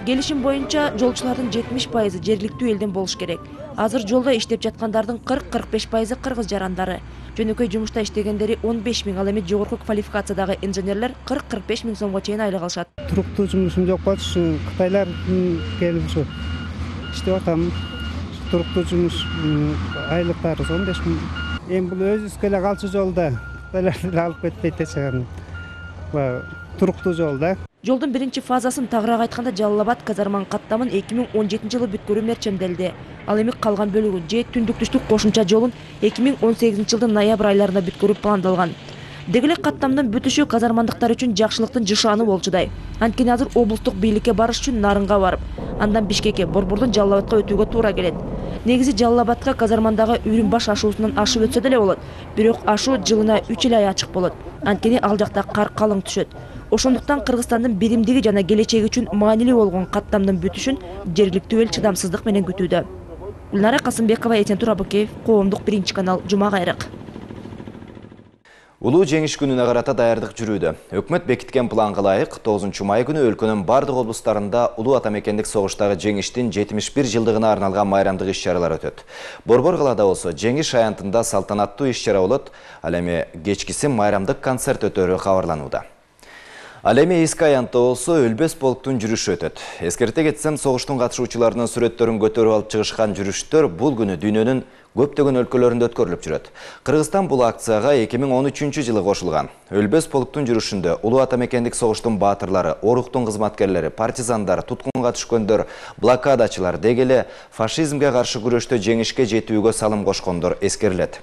Келишим боюнча жолчулардын 70% жергиликтүү элден болуш керек. Азыр жолдо иштеп жаткандардын 40-45% кыргыз жарандары. Жөнөкөй жумушта иштегендери 15 000, ал эми жогорку квалификациядагы инженерлер 40-45 000 сомго чейин айлык алышат. Туруктуу жумушум жок болчу, кытайлар келип ушу иштеп атам. Туруктуу жумуш айлыктары 15 000. Эми бул өзүбүзгө эле калчу жолда кытайлар алып кетпейт эчегин. Туруктуу жолда. Жолдун биринчи фазасын тагыраак айтканда Жалал Абад казарманын каттамын 2017 жылы бүткөрүү мерчемделди. Ал эми калган бөлүгүн же түндүк-түштүк кошумча жолун 2018 жылдын ноябрь айларында бүткөрүү пландалган. Деги эле каттамдын бүтүшү казармандыктар үчүн жакшылыктын жышааны болчудай. Анткени азыр облустук бийликке барыш үчүн Нарынга барып, андан Бишкекке, Борбордон Жалал Абадка өтүүгө туура келет. Негизи Жалал Абадка казармандагы Үрүмбаш ашуусунан ашып өтсө деле болот. Бирок ашуу жылына 3 эле ай ачык болот. Анткени ал жакта кар калың түшөт. Ошондуктан Кыргызстандын биримдиги жана келечеги үчүн маанилүү болгон каттамдын бүтүшүн жергиликтүү эл чыдамсыздык менен күтүүдө. Гүлнара Касымбекова, Этен Турабыкеев, Коомдук биринчи канал, Жума кайрык. Улуу жеңиш күнүнө карата даярдык жүрүүдө. Өкмөт бекиткен планга ылайык 9 май күнү өлкөнүн бардык облустарында улуу ата мекендик согуштагы жеңиштин 71 жылдыгына арналган майрамдык иш-чаралар өтөт. Борбор калаада болсо жеңиш аянтында салтанаттуу иш-чара болот. Ал эми кечкиси майрамдык концерт өтөрү кабарланууда. Ал эми эски аянтта болсо өлбөс полктун жүрүшү өтөт. Эскерте кетсем, согуштун катышуучуларынын сүрөттөрүн көтөрүп алып чыгышкан жүрүштөр бул күнү дүйнөнүн көптөгөн өлкөлөрүндө өткөрүлүп жүрөт. Кыргызстан бул акцияга 2013 жылы кошулган. Өлбөс полктун жүрүшүндө улуу ата мекендик согуштун баатырлары, оруктун кызматкерлери, партизандар, туткунга түшкөндөр, блокадачылар, деги эле фашизмге каршы күрөштө жеңишке жетүүгө салым кошкондор эскерилет.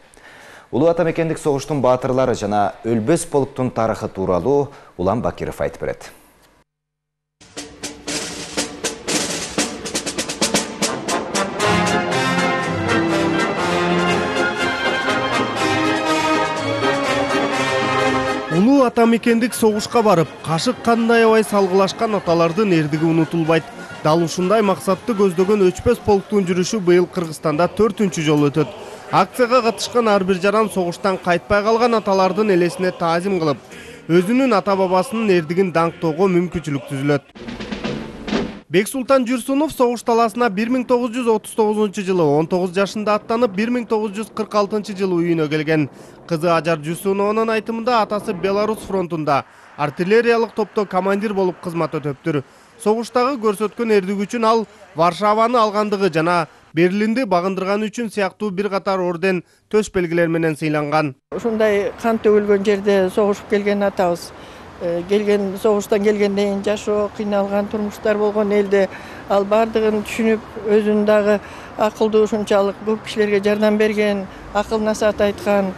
Улуу ата мекендик согуштун баатырлары жана өлбөс полктун тарыхы тууралуу Улан Бакиров айтып берет. Улуу ата мекендик согушка барып, кашык кандай аябай салгылашкан аталардын эрдиги унутулбайт. Дал ушундай максатты көздөгөн өчпөс полктун жүрүшү быйыл Кыргызстанда 4-үнчү жолу өтөт. Акцияга катышкан ар бир жаран согуштан кайтпай калган аталардын элесине таазим кылып, өзүнүн ата бабасынын эрдигин даңктоого мүмкүнчүлүк түзүлөт. Бексултан Жүрсүнов согуш талаасына 1939 жылы 19 жашында аттанып, 1946 жылы үйүнө келген. Кызы Ажар Жүрсүнованын айтымында атасы Беларусь фронтунда артиллериялык топто командир болуп кызмат өтөптүр. Согуштагы көрсөткөн эрдиги үчүн ал Варшаваны алгандыгы жана Берлинди багындырганы үчүн сыяктуу бир катар орден, төш белгилер менен сыйланган. Ушундай кан төгүлгөн жерде согушуп келген атабыз. Келген согуштан келгенден жашоо, кыйналган турмуштар болгон элде ал бардыгын түшүнүп, өзүн дагы акылдуу ушунчалык көп кишилерге жардам берген, акыл насаат айткан,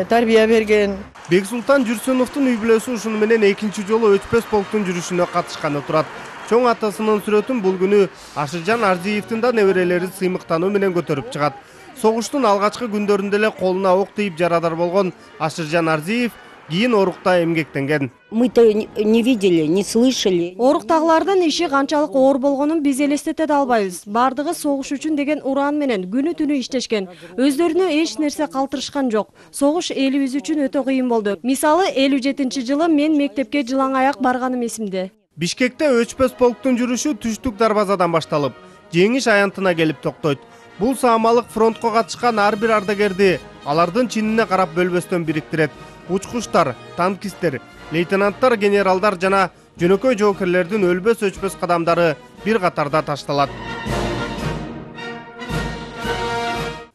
тарбия берген. Бексултан Жүрсүновдун үй бүлөсү ушуну менен экинчи жолу өчпөс полктун жүрүшүнө катышканы турат. Чоң атасынын сүрөтүн бул күнү Ашыржан Арзиевдин да неберелери сыймыктануу менен көтөрүп чыгат. Согуштун алгачкы күндөрүндө эле колуна ок тийип жарадар болгон Ашыржан Арзиев кийин орукта эмгектенген. Мы-то не видели, не слышали. Оруктагылардын иши канчалык оор болгонун биз элестете да албайбыз. Бардыгы согуш үчүн деген уран менен күнү түнү иштешкен. Өздөрүнө эч нерсе калтырышкан жок. Согуш элибиз үчүн өтө кыйын болду. Мисалы 57-жылы мен мектепке жылаң аяк барганым эсимде. Бишкекте өчпөс полктун жүрүшү түштүк дарбазадан башталып, жеңиш аянтына келип токтойт. Бул саамалык фронтко катышкан ар бир ардагерди алардын чинине карап бөлбөстөн бириктирет. Учкучтар, танкисттер, лейтенанттар, генералдар жана жөнөкөй жоокерлердин өлбөс өчпөс кадамдары бир катарда ташталат.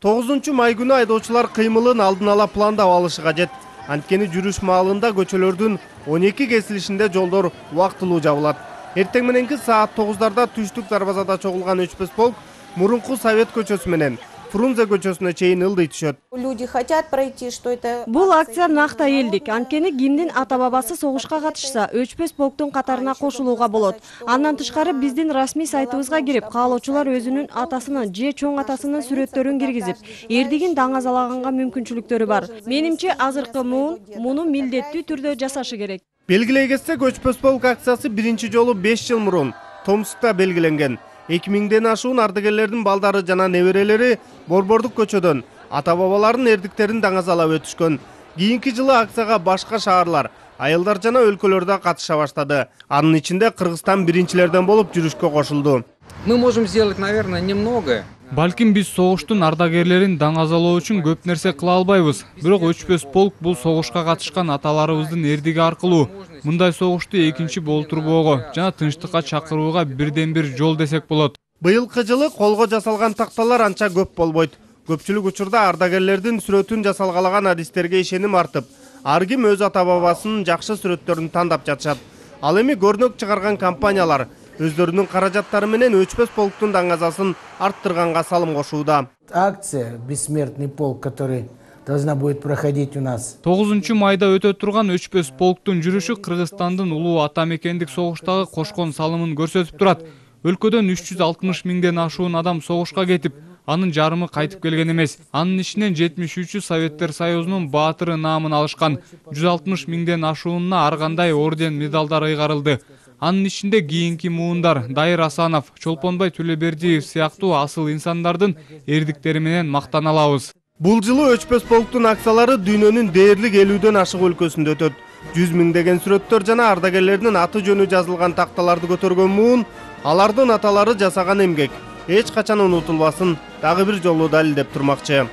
9 май күнү айдоочулар кыймылын алдын ала пландап алышы кажет. Анткени жүрүш маалында көчөлөрдүн 12 кесилишинде жолдор убактылуу жабылат. Эртең мененки саат 9-дарда түштүк дарбазада чогулган өчпөс полк мурунку Совет көчөсү менен Фрунзе көчөсүнө чейин ылдый түшөт. Люди хотят пройти, что это... Бул акция накта элдик. Анткени кимдин ата бабасы согушка катышса, өчпөс полктун катарына кошулууга болот. Андан тышкары биздин расмий сайтыбызга кирип, каалоочулар өзүнүн атасынын же чоң атасынын сүрөттөрүн киргизип, эрдигин даңазалаганга мүмкүнчүлүктөрү бар. Менимче азыркы муну милдеттүү түрдө жасашы керек. Белгилей кетсек, өчпөс полк акциясы биринчи жолу 5 жыл мурун Томскта белгиленген. 2000ден ашуун ардагерлердин балдары жана неберелери Борбордук көчөдөн ата бабалардын эрдиктерин даңазалап өтүшкөн. Кийинки жылы акцияга башка шаарлар, айылдар жана өлкөлөрдө катыша баштады. Анын ичинде Кыргызстан биринчилерден болуп жүрүшкө кошулду. Мы можем сделать, наверное, немного. Балким биз согуштун ардагерлерин даңазалоо үчүн көп нерсе кыла албайбыз. Бирок өчпөс полк бул согушка катышкан аталарыбыздын эрдиги аркылуу мындай согушту экинчи болтурбоого жана тынчтыкка чакырууга бирден бир жол десек болот. Быйылкы жылы колго жасалган такталар анча көп болбойт. Көпчүлүк учурда ардагерлердин сүрөтүн жасалгалаган адистерге ишеним артып, ар ким өз ата бабасынын жакшы сүрөттөрүн тандап жатышат. Ал эми көрнөк чыгарган компаниялар өздөрүнүн каражаттары менен өчпөс полктун даңазасын арттырганга салым кошууда. Акция «Бессмертный полк», который должна будет проходить у нас. 9 майда өтө турган өчпөс полктун жүрүшү Кыргызстандын улуу ата мекендик согуштагы кошкон салымын көрсөтүп турат. Өлкөдөн 360 миңден ашуун адам согушка кетип, анын жарымы кайтып келген эмес. Анын ичинен 73-ü Советтер Союзунун баатыры наамын алышкан. 160 миңден ашуунуна ар кандай орден, медалдар ыйгарылды. Анын ичинде кийинки муундар Дайыр Асанов, Чолпонбай Төлөбердиев сыяктуу асыл инсандардын эрдиктери менен мактана алабыз. Бул жылы өчпөс полктун акциялары дүйнөнүн дээрлик 50дөн ашык өлкөсүндө өтөт. 100 миңдеген сүрөттөр жана ардагерлердин аты жөнү жазылган такталарды көтөргөн муун алардын аталары жасаган эмгек эч качан унутулбасын дагы бир жолу далилдеп турмакчы.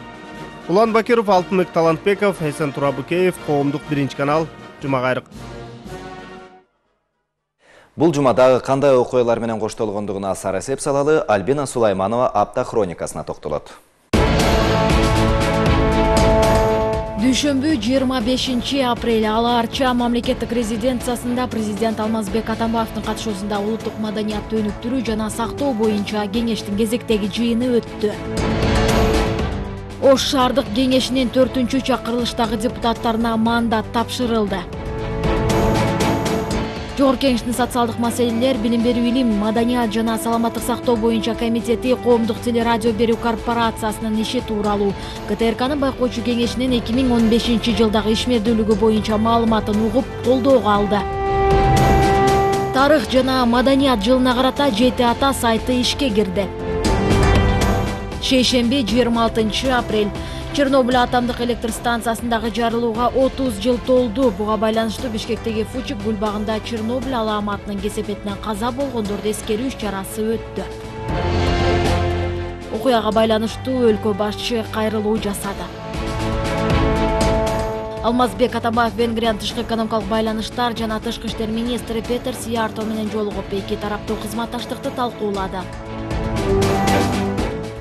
Улан Бакиров, Алтынбек Талантбеков, Эсен Турабыкеев, Коомдук 1 канал, Жума кайрык. Бул жумадагы кандай окуялар менен коштолгондугуна сара эсеп салалы Альбина Сулайманова апта хроникасына токтолот. Дүйшөмбү 25 апрель Ала Арча мамлекеттик резиденциясында президент Алмазбек Атамбаевдин катышуусунда улуттук маданиятты өнүктүрүү жана сактоо боюнча кеңештин кезектеги жыйыны өттү. Ош шаардык кеңешинин 4-чакырылыштагы депутаттарына мандат тапшырылды. Жогорку Кеңештин социалдык маселелер, билим берүү, илим, маданият жана саламаттык сактоо боюнча комитети Коомдук телерадио берүү корпорациясынын иши тууралуу КТРКнын байкоочу кеңешинин 2015 жылдагы ишмердүүлүгү боюнча маалыматын угуп колдоого алды. Тарых жана маданият жылына карата Жети ата сайты ишке кирди. Шейшемби 26 апрель Чернобыль атомдук электр станциясындагы жарылууга 30 жыл толду. Буга байланыштуу Бишкектеги Фучик гүл багында Чернобыль алааматынын кесепетинен каза болгондорду эскерүү иш-чарасы өттү. Окуяга байланыштуу өлкө башчы кайрылуу жасады. Алмазбек Атамбаев Венгриянын тышкы экономикалык байланыштар жана тышкы иштер министри Петер Сиярто менен жолугуп эки тараптуу кызматташтыкты талкуулады.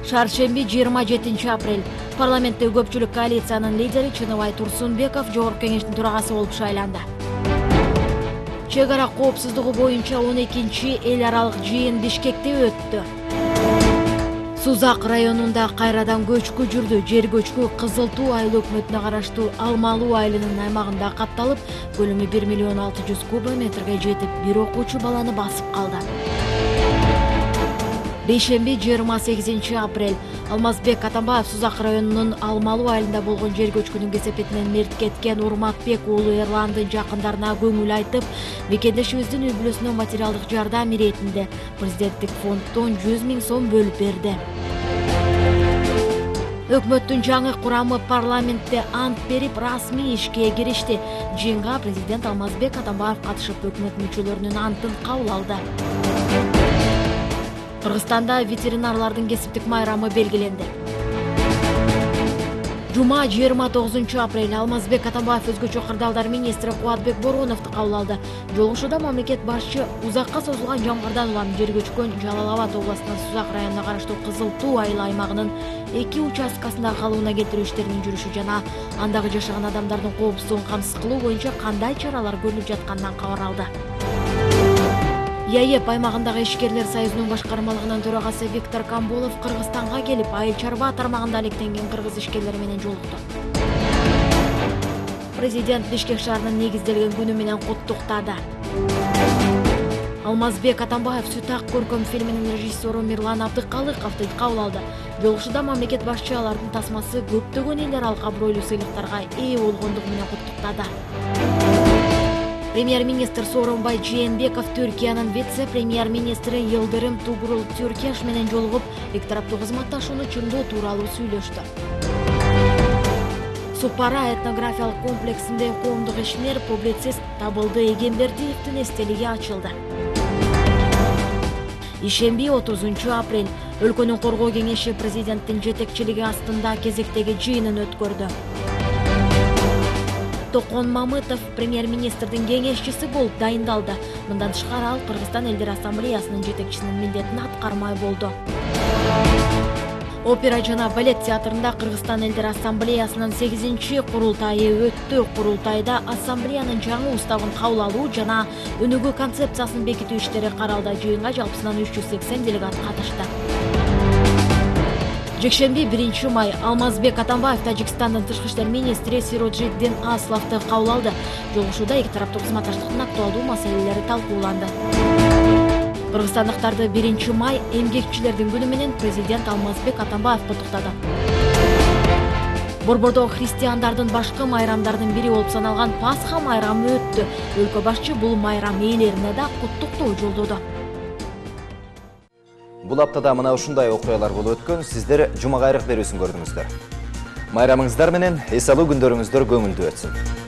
Шаршемби 27 апрель парламентте көпчүлүк коалициянын лидери Чыныбай Турсунбеков жогорку кеңештин төрагасы болуп шайланды. Чек ара коопсуздугу боюнча 12-чи эл аралык жыйын Бишкекте өттү. Сузак районунда кайрадан көчкү жүрдү. Жер көчкү Кызыл Туу айыл өкмөтүнө караштуу Алмалуу айылынын аймагында катталып, көлөмү 1 миллион 600 кубометрге жетип, бир окуучу баланы басып калды. Бейшемби 28 апрель Алмазбек Атамбаев Сузак районунун Алмалуу айылында болгон жер көчкүнүн кесепетинен мерт кеткен Урматбек уулу Эрландын жакындарына көңүл айтып, мекендешибиздин үй бүлөсүнө материалдык жардам иретинде президенттик фонддон 100 000 сом бөлүп берди. Өкмөттүн жаңы курамы парламентте ант берип, расмий ишке киришти. Жыйынга президент Алмазбек Атамбаев катышып, өкмөт мүчөлөрүнүн антын кабыл алды. Кыргызстанда ветеринарлардын кесиптик майрамы белгиленди. Жума 29 апрель Алмазбек Атамбаев өзгөчө кырдаалдар министри Кубатбек Бороновду кабыл алды. Жолугушууда мамлекет башчы узакка созулган жамгырдан улам жер көчкөн Жалал Абад областынын Сузак районуна караштуу Кызыл Туу айыл аймагынын 2 участкасында калыбына келтирүү иштеринин жүрүшү жана андагы жашаган адамдардын коопсуздугун камсыз кылуу боюнча кандай чаралар көрүлүп жатканынан кабар алды. ЯЭП аймагындагы ишкерлер союзунун башкармалыгынын төрагасы Виктор Камболов Кыргызстанга келип, айыл чарба тармагында алектенген кыргыз ишкерлери менен жолукту. Президент Бишкек шаарынын негизделген күнү менен куттуктады. Алмазбек Атамбаев «Сүт ак көркөм» фильминин режиссеру Мирлан Абдыкалыковду кабыл алды. Жолугушууда мамлекет башчы алардын тасмасы көптөгөн эл аралык абройлуу сыйлыктарга ээ болгондугу менен куттуктады. Премьер-министр Сооронбай Жээнбеков Түркиянын вице-премьер-министри Йылдырым Тугрул Түркеш менен жолугуп, эки тараптуу кызматташууну чыңдоо тууралуу сүйлөштү. Супара этнографиялык комплексинде коомдук ишмер, публицист Табылды Эгембердиевдин эстелиги ачылды. Ишемби 30 апрель өлкөнүн коргоо кеңеши президенттин жетекчилиги астында кезектеги жыйынын өткөрдү. Токон Мамытов премьер-министрдин кеңешчиси болуп дайындалды. Мындан тышкары ал Кыргызстан элдер ассамблеясынын жетекчисинин милдетин аткармай болду. Опера жана балет театрында Кыргызстан элдер ассамблеясынын 8-чи курултайы өттү. Курултайда ассамблеянын жаңы уставын кабыл алуу жана өнүгүү концепциясын бекитүү иштери каралды. Жыйынга жалпысынан 380 делегат катышты. Жекшемби 1 май Алмазбек Атамбаев Тажикстандын тышкы иштер министри Сироджиддин Асловду кабыл алды. Жолугушууда эки тараптуу кызматташтыктын актуалдуу маселелери талкууланды. Кыргызстандыктарды 1 май эмгекчилердин күнү менен президент Алмазбек Атамбаев куттуктады. Борбордо христиандардын башкы майрамдардын бири болуп саналган Пасха майрамы өттү. Өлкө башчы бул майрам ээлерине да куттуктоо жолдоду. Бул аптада мына ушундай окуялар болуп өткөн. Сиздер Жума кайрык берүүсүн көрдүңүздөр. Майрамыңыздар менен эс алуу күндөрүңүздөр көңүлдүү өтсүн.